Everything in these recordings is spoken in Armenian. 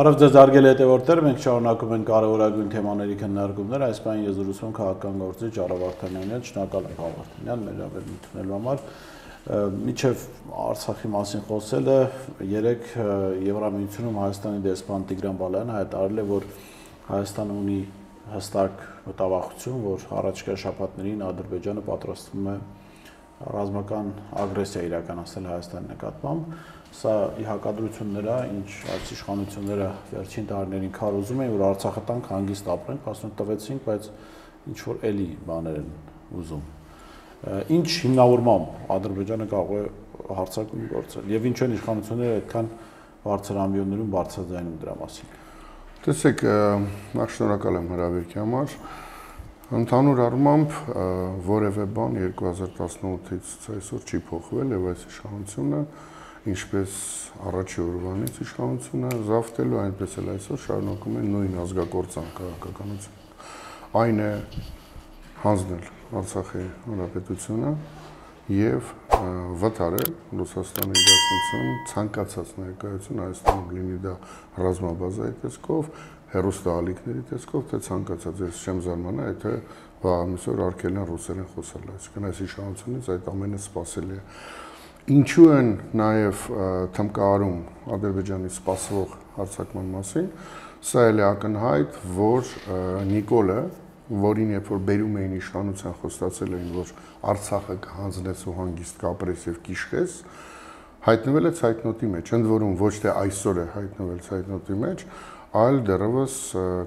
Բարև ձեզ հարգելի հետևորդներ, մենք շարունակում ենք կարևորագույն թեմաների քննարկումները, այս պահին ես զրուցում եմ քաղաքական գործիչ Արա Վարդանյանի հետ, շնորհակալ եմ Վարդանյան, մեր հավելում ընդունելու համար։ Մինչև Արցախի մասին խոսելը, երեք Եվրամիությունում Հայաստանի դեսպան Տիգրան Բալայանը հայտարարել է, որ Հայաստանը ունի հստակ մտավախություն, որ առաջիկա շաբաթներին Ադրբեջանը պատրաստվում է ռազմական ագրեսիա իրականացնել Հայաստանի նկատմամբ։ Սա ի հակադրություն նրա, ինչ այս իշխանությունները վերջին տարիներին քարոզում էին, որ Արցախը տանք հանգիստ ապրենք, ասում տվեցինք, բայց ինչ որ էլի բաներ են ուզում։ Ինչ հիմնավորմամբ Ադրբեջանը կարող է հարձակում գործել եւ ինչ են իշխանությունները այդքան բարձր ամբիոններում բարձրաձայնում դրա մասին։ Տեսեք, նախ շնորհակալ եմ հրավերքի համար։ Ընդհանուր առմամբ որևէ բան 2018-ից այսօր չի փոխվել եւ այս իշխանությունը ինչպես առաջի օրվանից իշխանությունը զավթելու, այնպես էլ այսօր շարունակում են նույն ազգակործան քաղաքականությունը։ Այն է հանձնել Արցախի հանրապետությունը եւ վտարել Ռուսաստանի Դաշնություն ցանկացած ներկայություն Հայաստանում լինի դա ռազմաբազայի տեսքով, հեռուստաալիքների տեսքով, թե ցանկացած ես չեմ զարմանա, եթե վաղամիսօր արկելն ռուսերեն խոսալ, այսինքն այս իշխանությունից այդ ամենը սпасելի է։ Ինչու են նաև թմկահարում Ադրբեջանի սպասվող հարձակման մասին, սա էլ է ակնհայտ, որ Նիկոլը, որին երբ որ բերում էին իշխանության խոստացել էին, որ Արցախը կհանձնես ու հանգիստ կապրես եւ կիշխես, հայտնվել է ցայտնոտի մեջ, ընդ որում ոչ թե այսօր է հայտնվել ցայտնոտի մեջ, այլ դեռևս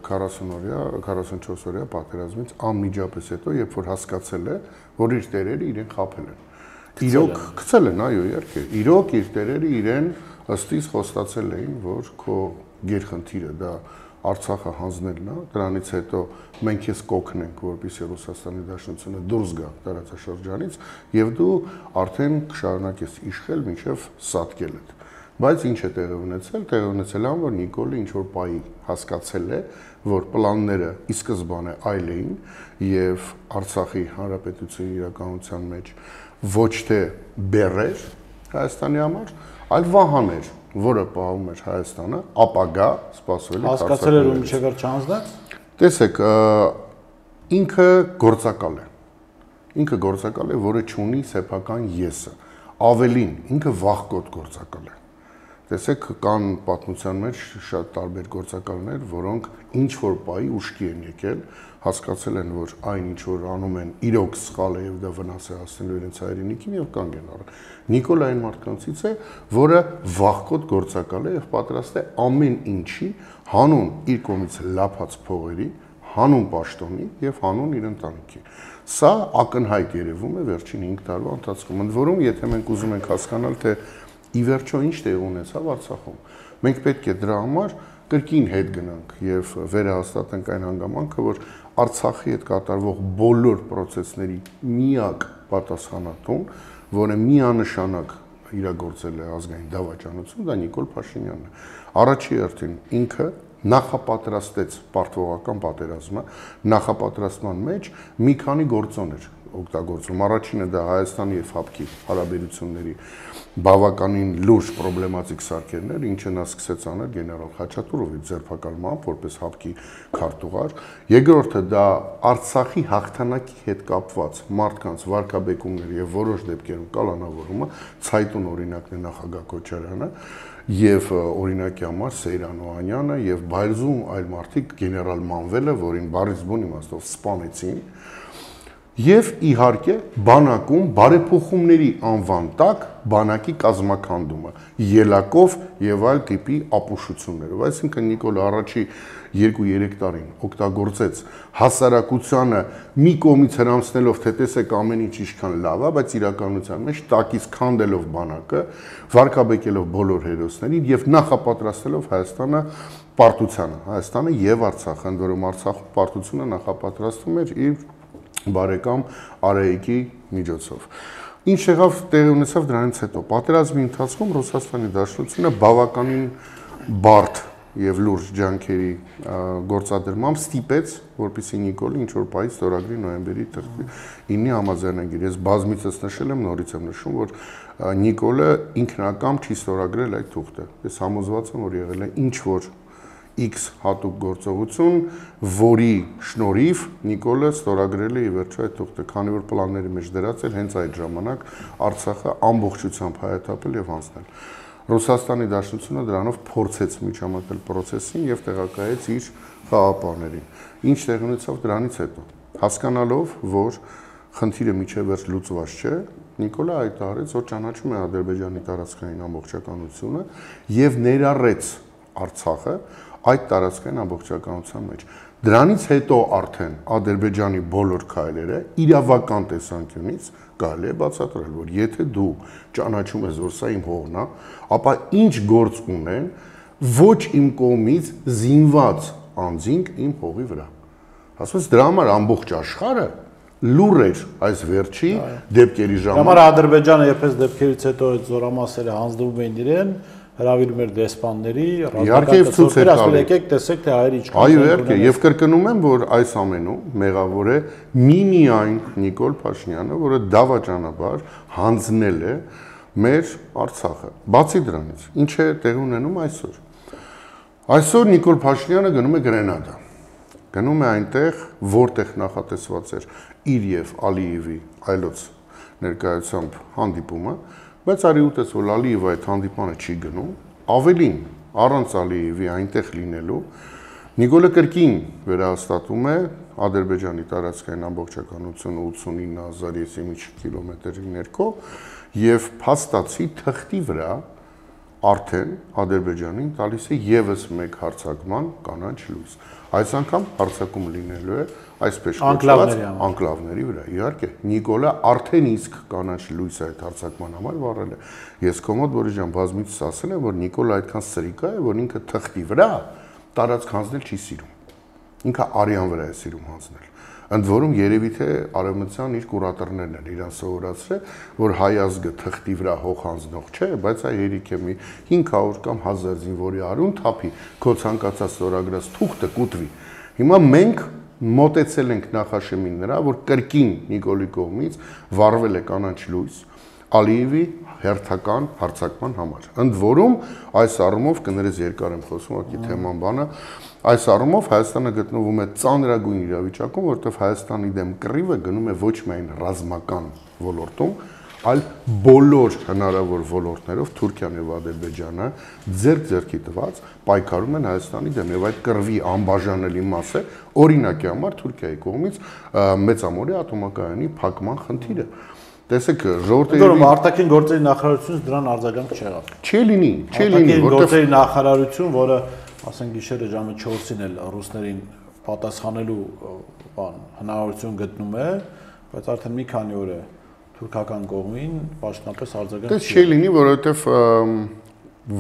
44-օրյա պատերազմից անմիջապես հետո, երբ որ հասկացել է, որ իր տերերը իրեն խաբել են։ Իրոք գցել են, այո, իհարկե։ Իրոք իր տերերը իրեն ըստիս խոստացել էին, որ քո գերխնդիրը դա Արցախը հանձնելն է, դրանից հետո մենք ես կօգնենք, որպեսզի Ռուսաստանի Դաշնությունը դուրս գա տարածաշրջանից, եւ դու արդեն կշարունակես իշխել մինչև սատկել it։ Բայց ինչ է տեղի ունեցել, տեղի ունեցել է, որ Նիկոլը ինչ որ պայի հասկացել է, որ պլանները ի սկզբանե այլ էին եւ Արցախի հանրապետության իրականության մեջ ոչ թե բեռեր Հայաստանի համար, այլ վահաներ, որը պահում էր Հայաստանը, ապագա սպասվելի հասկացել էր ու մինչև վերջ չանձնեց։ Տեսեք, ինքը գործակալ է։ Ինքը գործակալ է, որը չունի սեփական եսը։ Ավելին, ինքը վախկոտ գործակալ է։ Տեսեք, կան պատմության մեջ շատ տարբեր գործակալներ, որոնք ինչ որ պայի ուշքի են եկել, հասկացել են, որ այն ինչ որ անում են, իրոք սխալ է եւ դա վնաս է հասնելու իրենց հայրենիքին եւ կանգ են առել։ Նիկոլը այն մարդկանցից է, որը վախկոտ գործակալ է եւ պատրաստ է ամեն ինչի հանուն իր կողմից լափած փողերի, հանուն պաշտոնի եւ հանուն իր ընտանիքի։ Սա ակնհայտ երևում է վերջին 5 տարվա ընթացքում։ Ընդ որում, եթե մենք ուզում ենք հասկանալ, թե ի վերջո ինչ տեղ ունեցավ Արցախում, մենք պետք է դրա համար կրկին հետ գնանք եւ վերահաստատենք այն հանգամանքը, որ Արցախի հետ կատարվող բոլոր process-ների միակ պատասխանատուն, որը միանշանակ իրագործել է ազգային դավաճանություն, դա Նիկոլ Փաշինյանն է։ Առաջի հերթին ինքը նախապատրաստեց պարտվողական պատերազմը, նախապատրաստման մեջ մի քանի գործոն էր օգտագործում։ Առաջինը դա Հայաստանի եւ ՀԱՊԿ-ի հարաբերությունների բավականին լուրջ պրոբլեմատիկ սարքերն էր, ինչը նա սկսեց անել գեներալ Խաչատուրովի ձերբակալմամբ որպես ՀԱՊԿ-ի քարտուղար։ Երկրորդը դա Արցախի հաղթանակի հետ կապված մարդկանց վարկաբեկումների եւ որոշ դեպքերում կալանավորումը, ցայտուն օրինակն է նախագահ Քոչարյանը եւ օրինակի համար Սեյրան Օհանյանը եւ Բայրզում այլ մարդիկ գեներալ Մանվելը, որին բառից բուն իմաստով սպանեցին։ Եվ իհարկե բանակում բարեփոխումների անվան տակ բանակի կազմակերպումը ելակով եւ այլ տիպի ապուշություններով, այսինքն Նիկոլը առաջի 2-3 տարին օգտագործեց հասարակությանը մի կողմից հրամցնելով, թե տեսեք ամեն ինչ ինչքան լավ է, բայց իրականության մեջ տակից քանդելով բանակը, վարկաբեկելով բոլոր հերոսներին եւ նախապատրաստելով Հայաստանը պարտությանը, Հայաստանը եւ Արցախը, ընդ որում Արցախում պարտությունը նախապատրաստվում էր իր բարեկամ Արայիկի միջոցով։ Ինչ եղավ տեղի ունեցավ դրանից հետո։ Պատերազմի ընթացքում Ռուսաստանի Դաշնությունը բավականին բարդ եւ լուրջ ջանքերի գործադրմամբ ստիպեց, որպեսզի Նիկոլը ինչ որ պայից ստորագրի նոյեմբերի 9-ի համաձայնագիր։ Ես բազմիցս նշել եմ, նորից եմ նշում, որ Նիկոլը ինքնակամ չի ստորագրել այդ թուղթը։ Ես համոզված եմ, որ եղել է ինչ որ X հատուկ գործողություն, որի շնորհիվ Նիկոլը ստորագրել է ի վերջո այդ թուղթը, քանի որ պլանների մեջ դրած էր հենց այդ ժամանակ Արցախը ամբողջությամբ հայաթափել եւ հանձնել։ Ռուսաստանի Դաշնությունը դրանով փորձեց միջամտել process-ին եւ տեղակայեց իր խաղապարներին։ Ինչ տեղի ունեցավ դրանից հետո։ Հասկանալով, որ խնդիրը միջև վերջ լուծված չէ, Նիկոլը հայտարարեց, որ ճանաչում է Ադրբեջանի տարածքային ամբողջականությունը եւ ներառեց Արցախը այդ տարածքային ամբողջականության մեջ։ Դրանից հետո արդեն Ադրբեջանի բոլոր քայլերը իրավական տեսանկյունից կարելի է բացատրել, որ եթե դու ճանաչում ես, որ սա իմ հողն է, ապա ինչ գործ ունեն ոչ իմ կողմից զինված անձինք իմ հողի վրա։ Ասես դրա համար ամբողջ աշխարհը լուր էր այս վերջի դեպքերի ժամանակ։ Համար Ադրբեջանը երբես դեպքերից հետո այդ զորամասերը հանձնվում էին իրեն, հրավիրում էր դեսպանների, իհարկե ցույց էր տալիս։ Եկեք տեսեք թե հայերը ինչքան։ Այո, իհարկե, եւ կրկնում եմ, որ այս ամենում մեղավոր է միմիայն Նիկոլ Փաշինյանը, որը դավաճանաբար հանձնել է մեր Արցախը։ Բացի դրանից, ինչ է տեղի ունենում այսօր։ Այսօր Նիկոլ Փաշինյանը գնում է Գրենադա։ Գնում է այնտեղ, որտեղ նախատեսված էր իր եւ Ալիևի այլոց ներկայությամբ հանդիպումը, բայց արի ուտես, որ Ալիևը այդ հանդիպանը չի գնում, ավելին առանց Ալիևի այնտեղ լինելու, Նիկոլը կրկին վերահաստատում է Ադրբեջանի տարածքային ամբողջականությունը 89000 կիլոմետրի ներքո եւ փաստացի թղթի վրա արդեն Ադրբեջանին տալիս է եւս մեկ հարձակման կանաչ լույս։ Այս անգամ հարձակում լինելու է այսպես կոչված անկլավների վրա։ Իհարկե, Նիկոլը արդեն իսկ կանաչ լույս այդ հարձակման համար վառել է։ Ես կոմոդ Բորիժան բազմիցս ասել եմ, որ Նիկոլը այդքան սրիկա է, որ ինքը թղթի վրա տարածք հանձնել չի սիրում։ Ինքը արյան վրա է սիրում հանձնել։ Ընդ որում երևի թե արևմտյան իր կուրատորներն են իրան սովորացրել, որ հայ ազգը թղթի վրա հող հանձնող չէ, բայց այ հերիք է մի 500 կամ 1000 զինվորի արուն թափի, քո ցանկացած ստորագրած թուղթը կուտվի։ Հիմա մենք մոտեցել ենք նախաշեմին նրա, որ կրկին Նիկոլի կողմից վառվել է կանաչ լույս Ալիևի հերթական հարձակման համար։ Ընդ որում այս առումով կներես երկար եմ խոսում, ուղղակի թեման բանը, այս առումով Հայաստանը գտնվում է ծանրագույն իրավիճակում, որտեղ Հայաստանի դեմ կռիվը գնում է ոչ միայն ռազմական ոլորտում, այլ բոլոր հնարավոր ոլորտներով Թուրքիան եւ Ադրբեջանը ձեռք-ձեռքի տված պայքարում են Հայաստանի դեմ եւ այդ կռվի անբաժանելի մաս է օրինակի համար Թուրքիայի կողմից մեծամորի ատոմակայանի փակման խնդիրը։ Տեսեք, ժողովրդի արտաքին գործերի նախարարությունից դրան արձագանք չեղավ։ Չի լինի, որտեղ գործերի նախարարություն, որը ասենք գիշերը ժամը 4-ին էլ ռուսներին պատասխանելու հնարավորություն գտնում է, բայց արդեն մի քանի օր է թուրքական կողմին պաշտոնապես արձագանք։ Դες չի լինի, որովհետև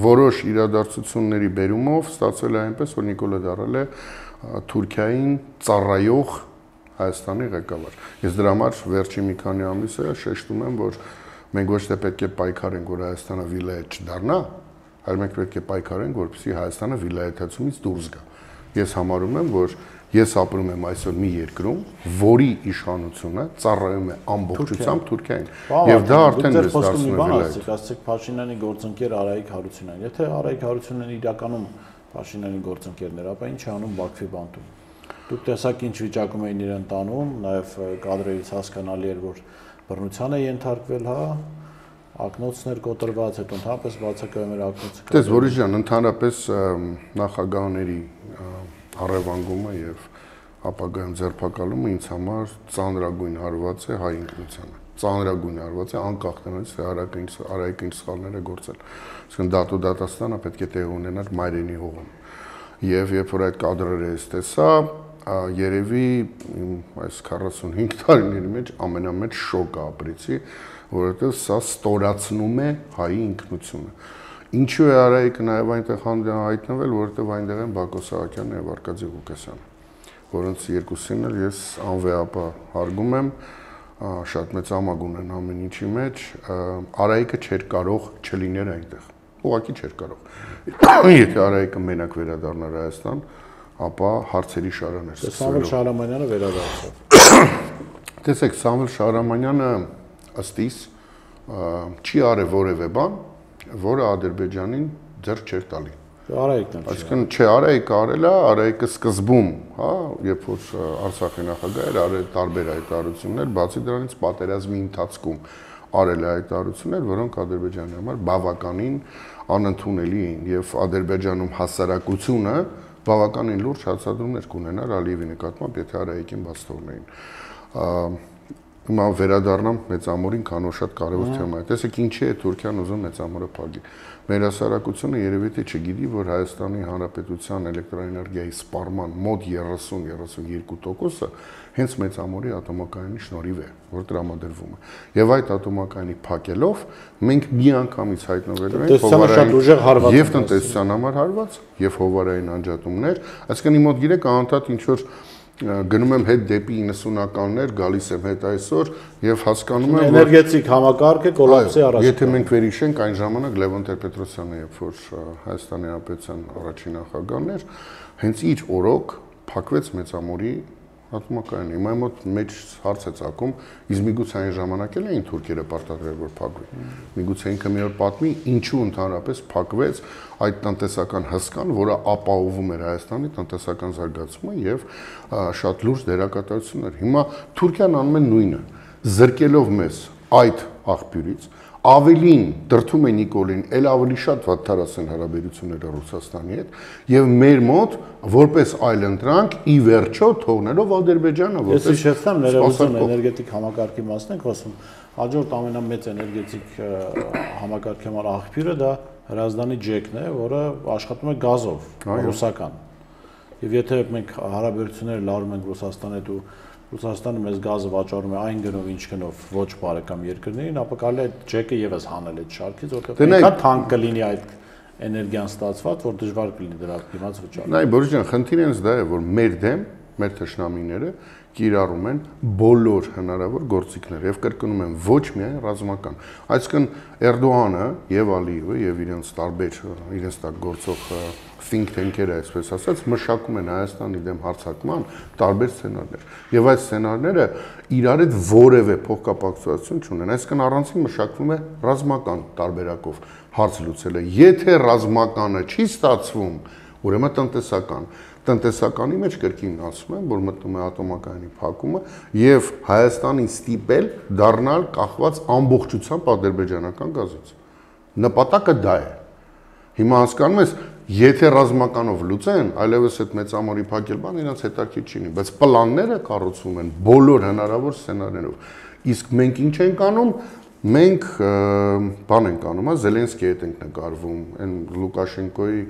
որոշ իրադարձությունների բերումով ստացվել է այնպես, որ Նիկոլը դառել է Թուրքիային ծառայող Հայաստանի ղեկավար։ Ես դրա համար վերջի մի քանի ամիս է շեշտում եմ, որ մենք ոչ թե պետք է պայքարենք, որ Հայաստանը վիլայետ չդառնա, այլ մենք պետք է պայքարենք, որպեսզի Հայաստանը վիլայետացումից դուրս գա։ Ես համարում եմ, որ ես ապրում եմ այսօր մի երկրում, որի իշխանությունը ծառայում է ամբողջությամբ Թուրքիային, եւ դա արդեն դες դարձնում է վիլայետ։ Ասեք Փաշինյանի գործընկեր Արայիկ Հարությունյան։ Եթե Արայիկ Հարությունյանն իրականում Փաշինյանի գործընկերն էր, ապա ինչ է անում Բաքվի բանտում։ Դուք տեսակ ինչ վիճակում էին իրեն տանում, նաև կադրերից հասկանալի էր, որ բռնության է ենթարկվել, հա, ակնոցներ կոտրված, հետո ընդհանրապես բացակայում էր ակնոցը։ Տես Բորիս ջան, ընդհանրապես նախագահների առևանգումը եւ ապագայում ձերբակալումը ինձ համար ծանրագույն հարված է հայ ինքնությանը։ Ծանրագույն հարված է անկախ նրանից, թե Արայիկը ինչ սխալներ է գործել։ Այսինքն դատու դատաստանը պետք է տեղ ունենար մայրենի հողում։ Եվ երբ որ այդ կադրերը ես տեսա, երևի այս 45 տարիների մեջ ամենամեծ շոկը ապրեցի, որովհետև սա ստորացնում է հայի ինքնությունը։ Ինչու է Արայիկը նաև այնտեղ հայտնվել, որովհետև այնտեղ են Բակո Սահակյանն եւ Արկադի Ղուկասյանը, որոնց երկուսին էլ ես անվեհապահ հարգում եմ, շատ մեծ ամագ ունեն ամեն ինչի մեջ, Արայիկը չէր կարող չլիներ այնտեղ, ուղղակի չէր կարող։ Եթե Արայիկը մենակ վերադառնար Հայաստան, ապա հարցերի շարան էր սկսվելու։ Սամվել Շահրամանյանը վերադարձավ։ Տեսեք, Սամվել Շահրամանյանը ըստ իս չի արել որևէ բան, որը Ադրբեջանին ձեռք չէր տալի։ Այսինքն չէ, Արայիկը արել է, Արայիկը սկզբում, հա, երբ որ Արցախի նախագահ էր, արել տարբեր հայտարարություններ, բացի դրանից պատերազմի ընթացքում արել է հայտարարություններ, որոնք Ադրբեջանի համար բավականին անընդունելի էին եւ Ադրբեջանում հասարակությունը բավականին լուրջ հացադրումներ կունենար Ալիևի նկատմամբ, եթե Արայիկին բաց թողնեին։ Հիմա վերադառնամ մեծամորին, քան որ շատ կարևոր թեմա է։ Տեսեք, ինչի է Թուրքիան ուզում մեծամորը փակի։ Մեր հասարակությունը երևի թե չգիտի, որ Հայաստանի Հանրապետության էլեկտրոէներգիայի սպառման մոտ 30-32%-ը հենց մեծամորի ատոմակայանի շնորհիվ է, որ տրամադրվում է։ Եվ այդ ատոմակայանի փակելով մենք միանգամից հայտնվելու ենք հովարային եւ տնտեսության համար հարված եւ հովարային անջատումներ, այսինքն իմ մոտ գիրեք անընդհատ ինչ որ գնում եմ հետ դեպի 90-ականներ, գալիս եմ հետ այսօր եւ հասկանում եմ, որ էներգետիկ համակարգը կոլապսի առաջ։ Եթե մենք վերհիշենք այն ժամանակ Լևոն Տեր-Պետրոսյանը, երբ որ Հայաստանի Հանրապետության առաջին նախագահն էր, հենց իր օրոք փակվեց մեծամորի ատոմակայանը։ Հիմա մոտ մեջ հարց է ցակում, իսկ միգուցե այն ժամանակ էլ էին թուրքերը պարտադրել, որ փակվի։ Միգուցե ինքը մի օր պատմի, ինչու ընդհանրապես փակվեց այդ տնտեսական հսկան, որը ապահովում էր Հայաստանի տնտեսական զարգացումը եւ շատ լուրջ դերակատարություններ։ Հիմա Թուրքիան անում է նույնը, զրկելով մեզ այդ աղբյուրից, ավելին դրթում է Նիկոլին, ել ավելի շատ վատթարացան հարաբերությունները Ռուսաստանի հետ եւ մեր մոտ որպես այլընտրանք ի վերջո թողնելով Ադրբեջանը որպես Ես հիշեցնեմ ներողություն էներգետիկ համակարգի մասն ենք խոսում հաջորդ ամենամեծ էներգետիկ համակարգի համար աղբյուրը դա Հրազդանի ջեկն է, որը աշխատում է գազով, ռուսական։ Եվ եթե մենք հարաբերությունները լարում ենք Ռուսաստանի հետ ու Ռուսաստանը մեզ գազը վաճառում է այն գնով, ինչ գնով ոչ բարեկամ երկրներին, ապա կարելի է այդ ջեկը եւս հանել այդ շարքից, որտեղ այնքան թանկ կլինի այդ էներգիան ստացված, որ դժվար կլինի դրա դիմաց վճարել։ Նայ, Բորիս ջան, խնդիրը հենց դա է, որ մեր դեմ, մեր թշնամիները կիրառում են բոլոր հնարավոր գործիքներ եւ կրկնում են ոչ միայն ռազմական։ Այսինքն Էրդողանը եւ Ալիևը եւ իրենց տարբեր իրենց տակ գործող think tank-երը, այսպես ասած, մշակում են Հայաստանի դեմ հարձակման տարբեր սցենարներ։ Եվ այդ սցենարները իրար հետ որևէ փոխկապակցություն չունեն։ Այսինքն առանցին մշակվում է ռազմական տարբերակով հարց լուծելը։ Եթե ռազմականը չի ստացվում, ուրեմն տնտեսական։ Տնտեսականի մեջ կրկին ասում եմ, որ մտնում է ատոմակայանի փակումը եւ Հայաստանին ստիպել դառնալ կախված ամբողջությամբ ադրբեջանական գազից։ Նպատակը դա է։ Հիմա հասկանում ես, եթե ռազմականով լուծեն, այլևս այդ մեծամորի փակել բան իրancs հետաքրքիր չի լինի, բայց պլանները կառուցվում են բոլոր հնարավոր սցենարներով։ Իսկ մենք ինչ ենք անում, մենք բան ենք անում, Զելենսկիի հետ ենք նկարվում, այն Լուկաշենկոյի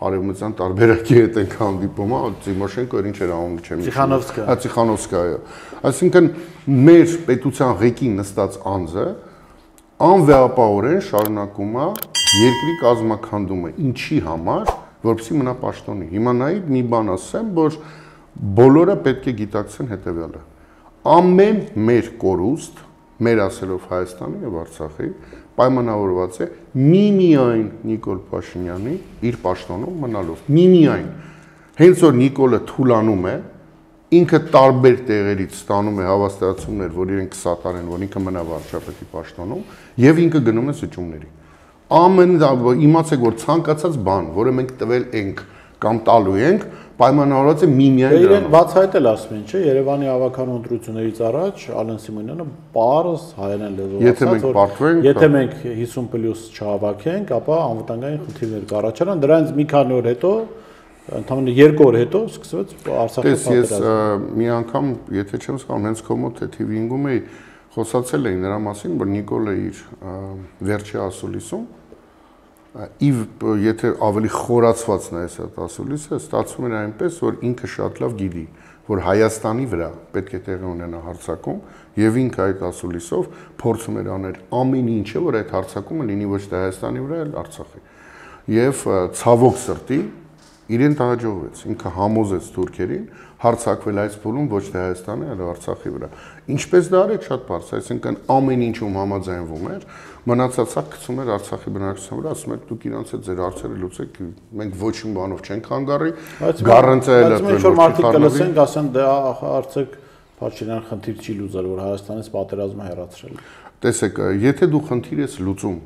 արևմտյան տարբերակի հետ ենք հանդիպում, Տիմոշենկո ինչ էր անում, չեմ հիշում։ Տիխանովսկայա։ Այսինքն մեր պետության ղեկին նստած անձը անվեհապահորեն շարունակում է երկրի կազմակերպումը, ինչի համար, որպեսզի մնա պաշտոնի։ Հիմա նայեք մի բան ասեմ, որ բոլորը պետք է գիտակցեն հետևյալը։ Ամեն մեր կորուստ, մեր ասելով Հայաստանի եւ Արցախի, պայմանավորված է միմիայն Նիկոլ Փաշինյանի իր պաշտոնում մնալով։ Միմիայն։ Հենց որ Նիկոլը թուլանում է, ինքը տարբեր տեղերից ստանում է հավաստիացումներ, որ իրենք կսատարեն, որ ինքը մնա վարչապետի պաշտոնում, եւ ինքը գնում է սճումների։ Ամեն իմացեք, որ ցանկացած բան, որը մենք տվել ենք կամ տալու ենք, պայմանավորված է միմիայն դրանով։ Իրենք բացահայտել ասում են, չէ, Երևանի ավականու ընտրություններից առաջ Ալեն Սիմոնյանը պարզ հայերեն լեզվով ասաց, որ եթե մենք 50+ չհավաքենք, ապա անվտանգային խնդիրներ կառաջանան, դրանից մի քանի օր հետո, ընդամենը 2 օր հետո սկսվեց Արցախի պատերազմը։ Ես մի անգամ, եթե չեմ սխալվում, հենց քո մոտ TV-ում էի, խոսացել էի նրա մասին, որ Նիկոլը իր վերջի ասուլիսում եթե ավելի խորացված նայես այդ ասուլիսը, ստացվում էր այնպես, որ ինքը շատ լավ գիտի, որ Հայաստանի վրա պետք է տեղի ունենա հարձակում, եւ ինքը այդ ասուլիսով փորձում էր անել ամեն ինչը, որ այդ հարձակումը լինի ոչ թե Հայաստանի վրա, այլ Արցախի։ Եվ ցավոք սրտի իրեն հաջողվեց, ինքը համոզեց թուրքերին հարձակվել այս փուլում ոչ թե Հայաստանի, այլ Արցախի վրա։ Ինչպես դա արեց, շատ բարձ, այսինքն ամեն ինչում համաձայնվում էր, մնացածը գցում էր Արցախի բնակչության վրա, ասում էր դուք իրանց հետ ձեր հարցերը լուծեք, մենք ոչ մի բանով չենք հանգարի, գառընծել է դրել, որ մարդիկ կլսենք, ասեն դա արդյոք Փաշինյան խնդիր չի լուծել, որ Հայաստանից պատերազմը հեռացրել։ Տեսեք, եթե դու խնդիր ես լուծում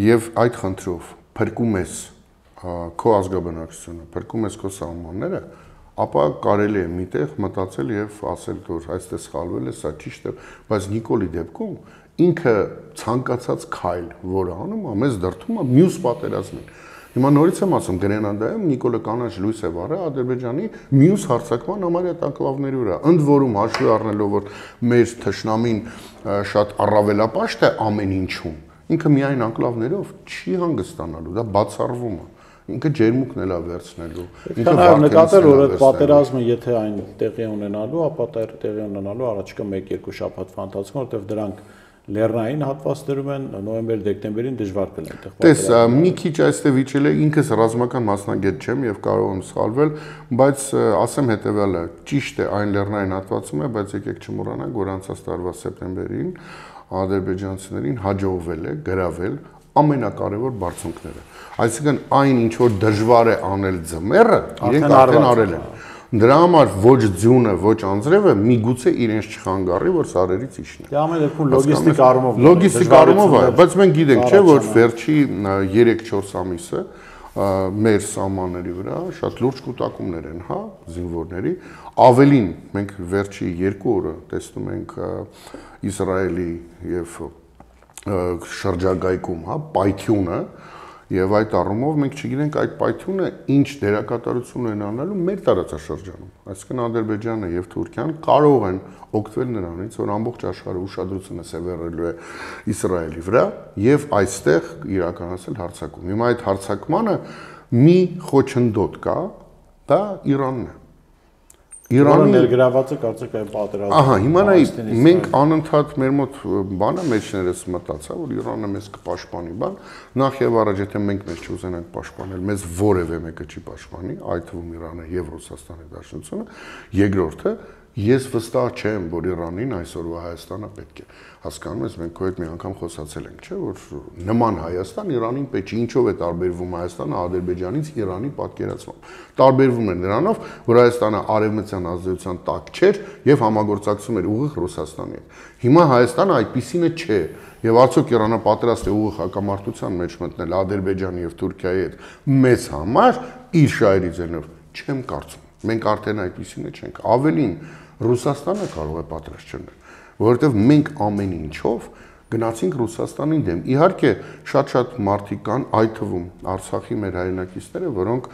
եւ այդ խնդրով փրկում ես քո ազգաբնակչությունը, փրկում ես քո սահմանները, ապա կարելի է միտեղ մտածել եւ ասել, որ այստեղ սխալվել է, սա ճիշտ է, բայց Նիկոլի դեպքում ինքը ցանկացած քայլ, որը անում է, մեզ դրդում է մյուս պատերազմին։ Հիմա նորից եմ ասում, Գրենադայում Նիկոլը կանաչ լույս է վառել Ադրբեջանի մյուս հարձակման համարյա տանկլավների վրա։ Ընդ որում հաշվի առնելով, որ մեր թշնամին շատ առավելապաշտ է ամեն ինչում, ինքը միայն անկլավներով չի հանգստանալու, դա բացառվում է։ Ինքը ջերմուկն էլ է վերցնելու։ Ինքը նկատել, որ այդ պատերազմը եթե այն տեղի ունենալու, ապա տեղի ունենալու առաջիկա 1-2 շաբաթվա ընթացքում, որտեղ դրանք լեռնային հատվածներում են, նոյեմբեր-դեկտեմբերին դժվար կլինի այդտեղ պատերազմը։ Տես, մի քիչ այստեղ վիճել է, ինքս ռազմական մասնագետ չեմ եւ կարող եմ սխալվել, բայց ասեմ հետեւյալը, ճիշտ է այն լեռնային հատվածում է, բայց եկեք չմոռանանք, որ անցած տարվա սեպտեմբերին ադրբեջանցիներին հաջողվել է գրավել ամենակարևոր բարձունքները։ Այսինքն այն ինչ որ դժվար է անել ձմեռը, իրենք արդեն արել են։ Դրա համար ոչ ձյունը, ոչ անձրևը միգուցե իրենց չխանգարի, որ սարերից իջնի։ Դա ամեն դեպքում լոգիստիկ առումով լոգիստիկ առումով է, բայց մենք գիտենք, չէ, որ վերջի 3-4 ամիսը մեր սահմանների վրա շատ լուրջ կուտակումներ են, հա, զինվորների։ Ավելին մենք վերջի 2 օրը տեսնում ենք Իսրայելի եւ շրջագայքում, հա, պայթյունը եւ այդ առումով մենք չգիտենք այդ պայթյունը ինչ դերակատարություն են անելու մեր տարածաշրջանում։ Այսինքն Ադրբեջանը եւ Թուրքիան կարող են օգտվել նրանից, որ ամբողջ աշխարհը ուշադրությունը սևեռելու է Իսրայելի վրա եւ այստեղ իրականացնել հարձակում։ Հիմա այդ հարձակմանը մի խոչընդոտ կա, դա Իրանն է։ Իրանը ներգրաված է կարծեք այն պատերազմում։ Ահա, հիմա նայ մենք անընդհատ մեր մոտ բանը մեջներս մտածա, որ Իրանը մեզ կպաշտպանի, բան, նախ եւ առաջ եթե մենք մեզ չուզենանք պաշտպանել, մեզ որևէ մեկը չի պաշտպանի, այդ թվում Իրանը եւ Ռուսաստանի Դաշնությունը, երկրորդը ես վստահ չեմ, որ Իրանին այսօրվա Հայաստանը պետք է։ Հասկանում ես, մենք քո հետ մի անգամ խոսացել ենք, չէ՞, որ նման Հայաստան Իրանին պետք է, ինչով է տարբերվում Հայաստանը Ադրբեջանից Իրանի պատկերացմամբ։ Տարբերվում է նրանով, որ Հայաստանը արևմտյան ազդեցության տակ չէր եւ համագործակցում էր ուղիղ Ռուսաստանի հետ։ Հիմա Հայաստանը այդպիսինը չէ։ Եվ արդյոք Իրանը պատրաստ է ուղիղ հակամարտության մեջ մտնել Ադրբեջանի եւ Թուրքիայի հետ մեզ համար իր շահերի ձենով, չեմ կարծում։ Մենք արդեն այդպիսինը չենք։ Ավելին Ռուսաստանը կարող է պատրաստ չլինել, որովհետև մենք ամեն ինչով գնացինք Ռուսաստանին դեմ։ Իհարկե, շատ մարդիկ կան, այդ թվում Արցախի մեր հայրենակիցները, որոնք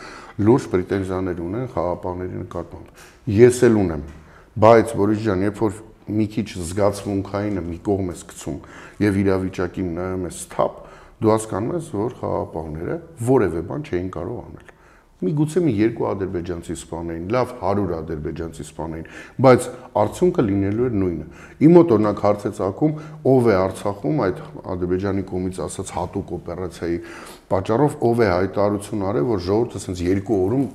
լուրջ պրետենզիաներ ունեն խաղաղապահների նկատմամբ։ Ես էլ ունեմ, բայց Բորիս ջան, երբ որ մի քիչ զգացմունքայինը մի կողմ ես գցում եւ իրավիճակին նայում ես թափ, դու հասկանում ես, որ խաղաղապահները որևէ բան չէին կարող անել։ Միգուցե մի 2 ադրբեջանցի սպանեին, լավ 100 ադրբեջանցի սպանեին, բայց արդյունքը լինելու էր նույնը։ Իմ մոտ օրինակ հարց է ծագում, ով է Արցախում այդ Ադրբեջանի կողմից ասած հատուկ օպերացիայի պատճառով, ով է հայտարարություն արել, որ ժողովուրդը ասենց 2 օրում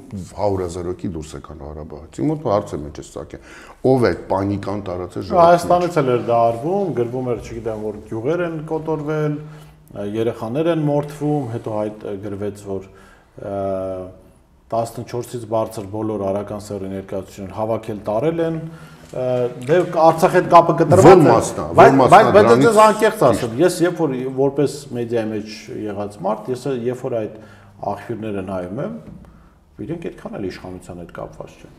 100,000 հոգի դուրս եկան Ղարաբաղից։ Իմ մոտ հարց է մեջ ծագել, ով է պանիկան տարածել ժողովրդի։ Հայաստանից էլ էր դա արվում, գրվում էր, չգիտեմ, որ գյուղեր են կոտորվել, երեխաներ են մորթվում, հետո հայտ գրվեց, որ 14-ից բարձր բոլոր արական սեռի ներկայացուցիչներ հավաքել տարել են, դե Արցախի հետ կապը կտրված է, բայց դες անկեղծ ասեմ, ես երբ որ որպես մեդիայի մեջ եղած մարդ, ես երբ որ այդ աղբյուրները նայում եմ, իրենք այդքան էլ իշխանության հետ կապված չեն։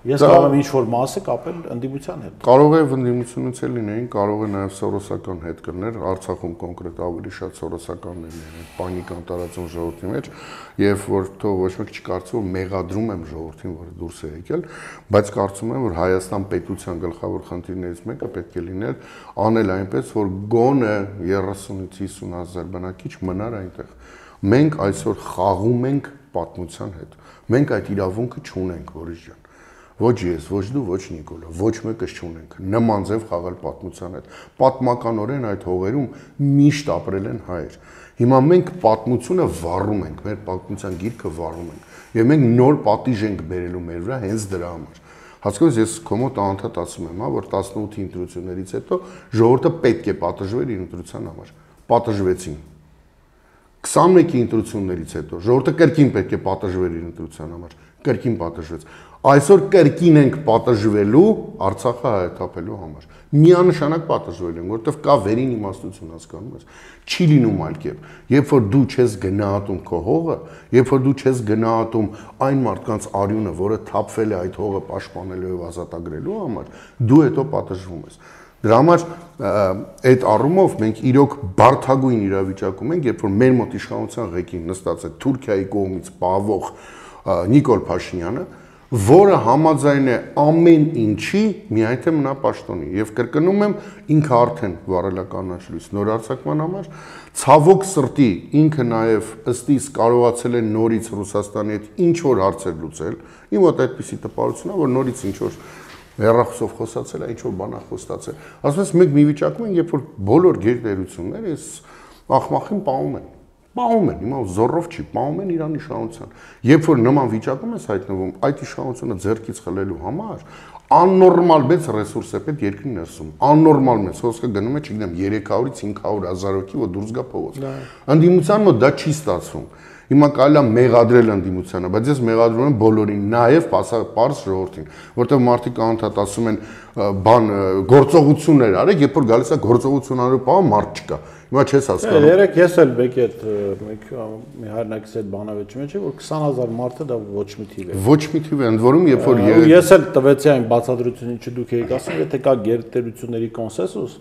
Ես կարող եմ ինչ-որ մասը կապել ընդդիմության հետ։ Կարող է ընդդիմությունից էլ լինեին, կարող է նաև սորոսական հետ կներ, Արցախում կոնկրետ ավելի շատ սորոսականներ լինեն, պանիկան տարածում ժողովրդի մեջ, եւ որ թող ոչ մեկ չկարծի, որ մեղադրում եմ ժողովրդին, որ դուրս է եկել, բայց կարծում եմ, որ Հայաստան պետության գլխավոր խնդիրներից մեկը պետք է լիներ անել այնպես, որ գոնե 30-ից 50,000 բնակիչ մնար այնտեղ։ Մենք այսօր խաղում ենք պատմության հետ։ Մենք այդ իրավունքը չունենք, Բորիս ջան։ Ոչ ես, ոչ դու, ոչ Նիկոլը, ոչ մեկս չունենք նման ձև խաղալ պատմության հետ։ Պատմականորեն այդ հողերում միշտ ապրել են հայեր։ Հիմա մենք պատմությունը վառում ենք, մեր պատմության գիրքը վառում ենք, եւ մենք նոր պատիժ ենք բերելու մեր վրա հենց դրա համար։ Հասկանում ես, ես քո մոտ անդադ ասում եմ, հա, որ 18-ի ընտրություններից հետո ժողովուրդը պետք է պատժվեր իր ընտրության համար։ Պատժվեցին։ 21-ի ընտրություններից հետո ժողովուրդը կրկին պետք է պատժվեր իր ընտրության համար, կրկին պատժվեց։ Այսօր կրկին ենք պատժվելու Արցախը հայթափելու համար։ Միանշանակ պատժվել են, որովհետև կա վերին իմաստություն, հասկանում ես։ Չի լինում այլ կերպ։ Երբ որ դու չես գնահատում քո հողը, երբ որ դու չես գնահատում այն մարդկանց արյունը, որը թափվել է այդ հողը պաշտպանելու եւ ազատագրելու համար, դու հետո պատժվում ես։ Դրա համար այդ առումով մենք իրոք բարդագույն իրավիճակում ենք, երբ որ մեր մոտ իշխանության ղեկին նստած է Թուրքիայի կողմից պահվող Նիկոլ Փաշինյանը, որը համաձայն է ամեն ինչի, միայն թե մնա պաշտոնի։ Եվ կրկնում եմ, ինքը արդեն վարելականաչ լույս նոր արձակման համար, ցավոք սրտի ինքը նաև ըստ իս կարողացել է նորից Ռուսաստանի հետ ինչ որ հարցեր լուծել։ Իմ մոտ այդպիսի տպավորություն է, որ նորից ինչ որ հեռախոսով խոսացել է, ինչ որ բան է խոստացել։ Ասում ես մենք մի վիճակում ենք, երբ որ բոլոր գերտերությունները այս աղմախին պահում են։ Պահում են, հիմա զորով չի, պահում են Իրանի իշխանության։ Երբ որ նման վիճակում ես հայտնվում, այդ իշխանությունը ձեռքից խլելու համար աննորմալ մեծ ռեսուրս է պետք երկրի ներսում։ Աննորմալ մեծ, խոսքը գնում է, չգիտեմ, 300-ից 500,000 հոգի, որ դուրս գա փողոց։ Ընդդիմության մոտ դա չի ստացվում։ Հիմա կարելի է մեղադրել ընդդիմությանը, բայց ես մեղադրում եմ բոլորին, նաև պարզ ժողովրդին, որտեղ մարդիկ անընդհատ ասում են բան գործողություններ արեք, երբ որ գալիս է գործողություն անելու պահը մարդ չկա։ Հիմա չես հասկանում։ Երեք ես էլ մեկ այդ մի հայրենակից այդ բանավեճի մեջ է, որ 20,000 մարդը դա ոչ մի թիվ է։ Ոչ մի թիվ է, ընդ որում երբ որ ես էլ տվեցի այն բացատրությունն, ինչը դուք եք ասում, եթե կա գերտերությունների կոնսենսուս,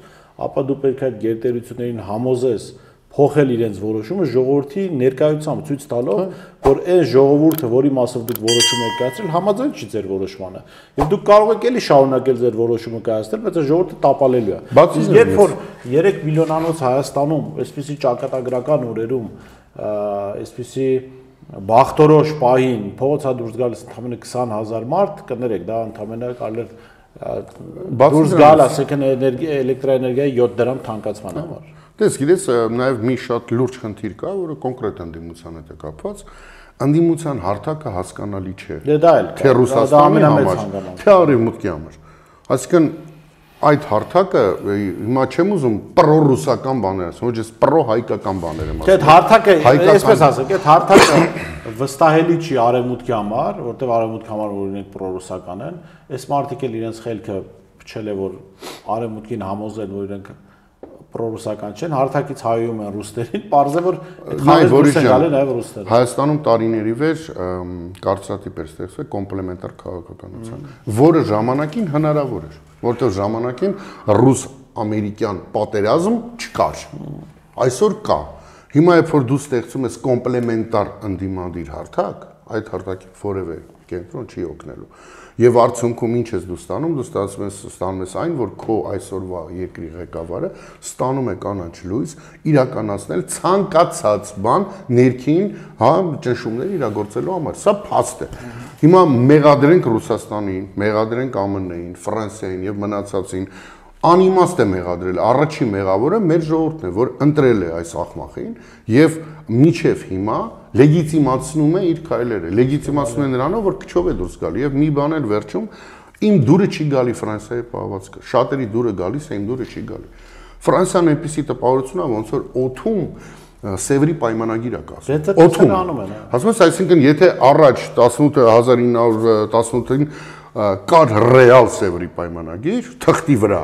ապա դու պետք է այդ գերտերություններին համոզես փոխել իրենց որոշումը ժողովրդի ներկայությամբ ցույց տալով, որ այն ժողովուրդը, որի մասով դուք որոշում եք կայացրել, համաձայն չի ձեր որոշմանը։ Եվ դուք կարող եք էլի շարունակել ձեր որոշումը կայացնել, բայց այն ժողովուրդը տապալելու է։ Բայց երբ որ 3 միլիոնանոց Հայաստանում, այսպիսի ճակատագրական օրերում, այսպիսի բախտորոշ պահին փողոցա դուրս գալիս ընդամենը 20,000 մարդ, կներեք, դա ընդամենը կարելի դուրս գալ, ասեք էլեկտրաէներգիայի 7 դրամ թանկացման համար։ Դες գիտես, նաև մի շատ լուրջ խնդիր կա, որը կոնկրետ ընդդիմության հետ է կապված, ընդդիմության հարթակը հասկանալի չէ։ Դա էլ թե Ռուսաստանի համար, թե Արևմուտքի համար։ Այսինքն այդ հարթակը հիմա չեմ ուզում պրոռուսական բաներ ասեմ, ոչ ես պրոհայկական բաներ եմ ասում։ Այդ հարթակը, այսպես ասենք, այդ հարթակը վստահելի չի Արևմուտքի համար, որտեղ Արևմուտքի համար օրինակ պրոռուսական են, այս մարդիկ էլ իրենց խելքը փչել է, որ Արևմուտքին համոզեն, որ իրենք պրոռուսական չեն, հարթակից հայում են ռուսներին, պարզ է, որ այդ գալի նաև ռուսները։ Հայաստանում տարիների վեր կարծրատիպ էր ստեղծվել կոմպլեմենտար քաղաքականության, որը ժամանակին հնարավոր էր, որտեղ ժամանակին ռուս-ամերիկյան պատերազմ չկար։ Այսօր կա։ Հիմա երբ որ դու ստեղծում ես կոմպլեմենտար ընդդիմադիր հարթակ, այդ հարթակի որևէ կենտրոն չի օգնելու։ Եվ արդյունքում ինչ ես դու ստանում, դու ստանում ես այն, որ քո այսօրվա երկրի ղեկավարը ստանում է կանաչ լույս իրականացնել ցանկացած բան ներքին, ճնշումներ իրագործելու համար։ Սա փաստ է։ Հիմա մեղադրենք Ռուսաստանին, մեղադրենք ԱՄՆ-ին, Ֆրանսիային եւ մնացածին, անիմաստ է մեղադրել։ Առաջին մեղավորը մեր ժողովուրդն է, որ ընտրել է այս աղմախին եւ միջև հիմա լեգիտիմացնում է իր քայլերը, լեգիտիմացնում է նրանով, որ քչով է դուրս գալի եւ մի բան էլ վերջում իմ դուրը չի գալի Ֆրանսիայի պահվածքը, շատերի դուրը գալիս է, իմ դուրը չի գալի։ Ֆրանսիան այնպեսի տպավորություն է, ոնց որ օթում Սևրի պայմանագիր է կասում։ Օթում անում են։ Ասում ես, այսինքն եթե առաջ 1918-ին կար ռեալ Սևրի պայմանագիր թղթի վրա,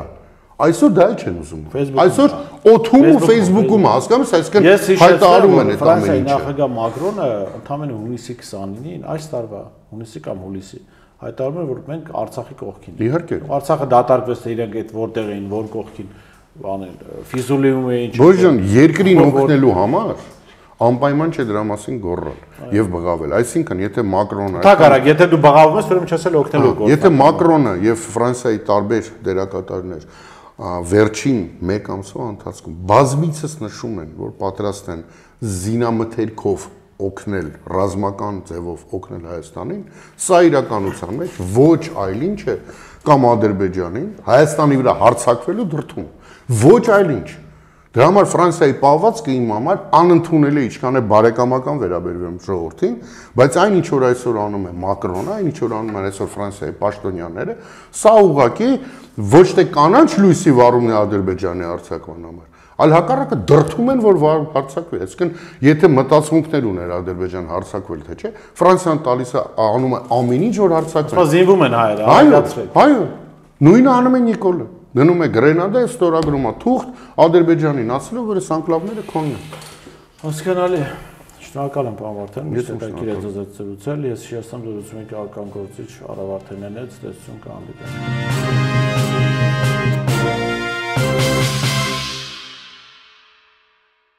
այսօր դա էլ չեն ուզում։ Այսօր օթում ու Facebook-ում հասկանում ես, այսինքն հայտարարում են այդ ամեն ինչը։ Նախագահ Մակրոնը ընդամենը հունիսի 29-ին, այս տարվա հունիսի կամ հուլիսի, հայտարարում է, որ մենք Արցախի կողքին ենք։ Իհարկե։ Արցախը դատարկվեց, թե իրենք այդ որտեղ էին, որ կողքին բանել, Ֆիզուլիում էին։ Բոժան, երկրին օգնելու համար անպայման չէ դրա մասին գոռալ եւ բղավել։ Այսինքն, եթե Մակրոնը Թակարակ, եթե դու բղավում ես, ուրեմն չես էլ օգնելու գործ։ Եթե Մակրոնը եւ Ֆրանսիայի տարբեր դերակատարներ վերջին 1 ամսվա ընթացքում բազմիցս նշում են, որ պատրաստ են զինամթերքով օգնել, ռազմական ձևով օգնել Հայաստանին, սա իրականության մեջ ոչ այլ ինչ է կամ Ադրբեջանին Հայաստանի վրա հարձակվելու դրդում, ոչ այլ ինչ։ Դրա համար Ֆրանսիայի պահվածքը իմ համար անընդունել է, ինչքան է բարեկամական վերաբերվում ժողովրդին, բայց այն ինչ որ այսօր անում է Մակրոնը, այն ինչ որ անում են այսօր Ֆրանսիայի պաշտոնյաները, սա ուղղակի ոչ թե կանաչ լույսի վառումն է Ադրբեջանի արձակման համար, Այլ հակառակը դրթում են, որ հարձակվի։ Այսինքն, եթե մտածմունքներ ուներ Ադրբեջան հարձակվել, թե չէ, Ֆրանսիան տալիս է անում է ամեն ինչ, որ հարձակվի։ Սա զինվում են հայերը, հայացրեք։ Այո, նույնը անում է Նիկոլը։ Գնում է Գրենադա, ստորագրում է թուղթ Ադրբեջանին, ասելով, որ այս անկլավները քոնն են։ Հասկանալի։ Շնորհակալ եմ, պարոն Վարդան, միշտ եք զրուցել։ Ես հիշեցնում, զրուցում եք քաղաքական գործիչ Արա Վարդանյանից, տեսություն կհանդիպենք։